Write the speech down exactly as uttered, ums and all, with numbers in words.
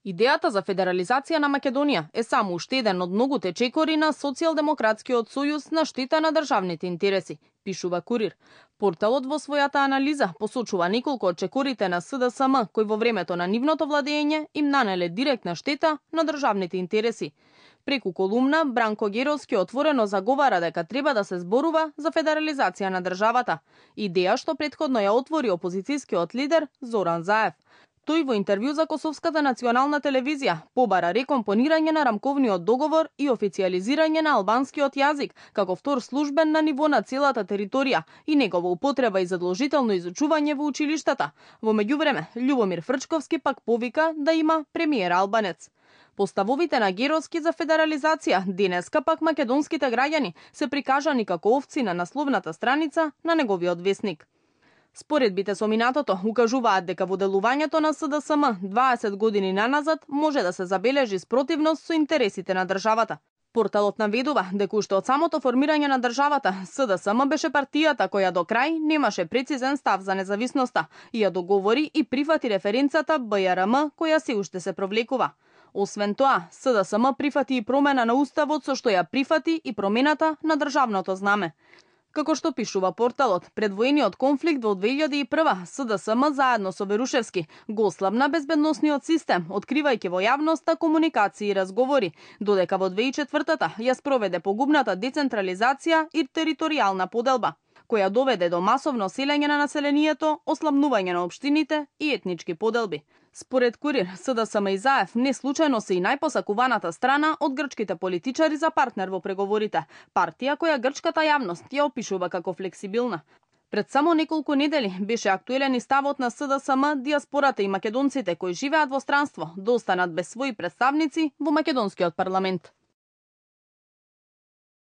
Идејата за федерализација на Македонија е само уште еден од многуте чекори на Социјалдемократскиот сојуз на штета на државните интереси, пишува Курир. Порталот во својата анализа посочува неколку од чекорите на С Д С М кои во времето на нивното владење им нанеле директна штета на државните интереси. Преку колумна, Бранко Геровски отворено заговара дека треба да се зборува за федерализација на државата, идеја што претходно ја отвори опозицијскиот лидер Зоран Заев. Тој во интервју за Косовската национална телевизија побара рекомпонирање на рамковниот договор и официјализирање на албанскиот јазик како втор службен на ниво на целата територија и негова употреба и задолжително изучување во училиштата. Во меѓувреме, Љубомир Фрчковски пак повика да има премиер албанец. По ставовите на Геровски за федерализација, денеска пак македонските граѓани се прикажани како овци на насловната страница на неговиот весник. Споредбите со минатото укажуваат дека во делувањето на С Д С М дваесет години наназад може да се забележи спротивност со интересите на државата. Порталот наведува дека уште од самото формирање на државата, С Д С М беше партијата која до крај немаше прецизен став за независноста и ја договори и прифати референцата Б Ј Р М која се уште се провлекува. Освен тоа, С Д С М прифати и промена на уставот со што ја прифати и промената на државното знаме. Како што пишува порталот, пред воениот конфликт во две илјади и прва С Д С М заедно со Верушевски го ослабна безбедносниот систем, откривајќи во јавноста комуникации и разговори, додека во две илјади и четвртата ја спроведе погубната децентрализација и територијална поделба, која доведе до масовно селење на населението, ослабнување на општините и етнички поделби. Според Курир, С Д С М и Заев не случајно се и најпосакуваната страна од грчките политичари за партнер во преговорите, партија која грчката јавност ја опишува како флексибилна. Пред само неколку недели беше актуелен и ставот на С Д С М дијаспората и македонците кои живеат во странство да останат без своји представници во македонскиот парламент.